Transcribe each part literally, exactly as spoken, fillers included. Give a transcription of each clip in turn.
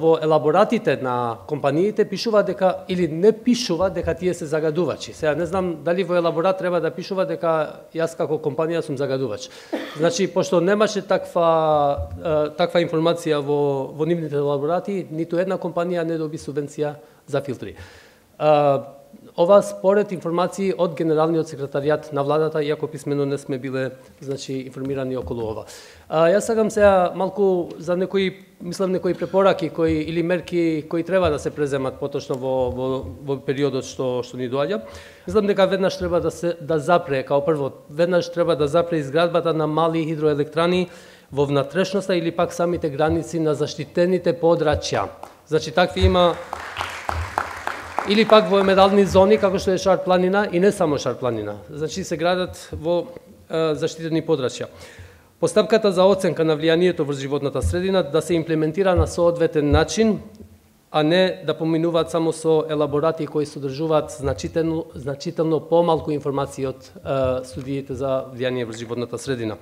Во елаборатите на компаниите пишува дека или не пишува дека тие се загадувачи. Сега не знам дали во елаборат треба да пишува дека јас како компанија сум загадувач. Значи, пошто немаше таква таква информација во во нивните елаборати, ниту една компанија не доби субвенција за филтри. Ова според информации од Генералниот секретаријат на владата, иако писмено не сме биле, значи, информирани околу ова. А, јас сакам сега малку за некои, мислам, некои препораки кои или мерки кои треба да се преземат поточно во во, во периодот што што ни доаѓа. Мислам дека веднаш треба да се да запре, као прво, веднаш треба да запре изградбата на мали хидроелектрани во внатрешноста или пак самите граници на заштитените подрачја. Значи, такви има или пак во емерални зони, како што е Шар планина, и не само Шар планина. Значи, се градат во е, заштитени подрачја. Постапката за оценка на влијанието врз животната средина да се имплементира на соодветен начин, а не да поминуваат само со елаборати кои содржуваат значително, значително помалку информации од е, студиите за влијание врз животната средина.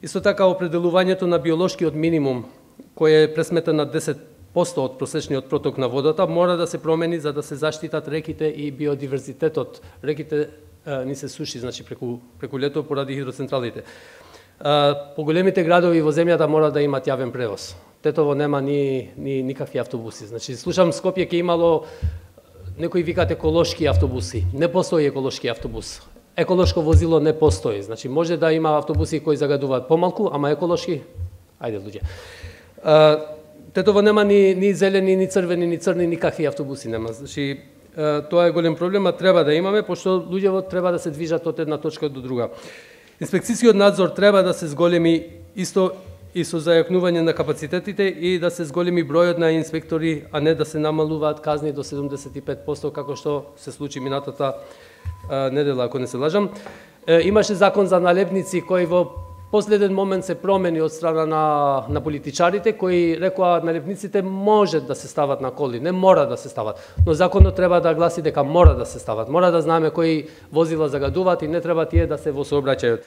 Исто така, определувањето на биолошкиот минимум, кој е пресметен на десет посто од просечниот проток на водата, мора да се промени за да се заштитат реките и биодиверзитетот. Реките е, ни се суши, значи, преку, преку лето поради хидроцентралите. Е, поголемите градови во земјата мора да имат јавен превоз. Тетово нема ни, ни никакви автобуси. Значи, слушам Скопје ке имало, некои викат еколошки автобуси. Не постои еколошки автобус. Еколошко возило не постои. Значи, може да има автобуси кои загадуваат помалку, ама еколошки, ајде луѓе. Е, Тетово нема ни, ни зелени, ни црвени, ни црни, никакви автобуси нема. Значи, тоа е голем проблем, а треба да имаме, пошто луѓето треба да се движат од една точка до друга. Инспекцијскиот надзор треба да се зголеми исто и со зајакнување на капацитетите и да се зголеми бројот на инспектори, а не да се намалуваат казни до седумдесет и пет посто, како што се случи минатата недела, ако не се лажам. Имаше закон за налепници кој во последен момент се промени од страна на, на политичарите, кои рекоа налепниците може да се стават на коли, не мора да се стават. Но законот треба да гласи дека мора да се стават. Мора да знаеме кои возила загадуваат и не треба тие да се во сообраќајот.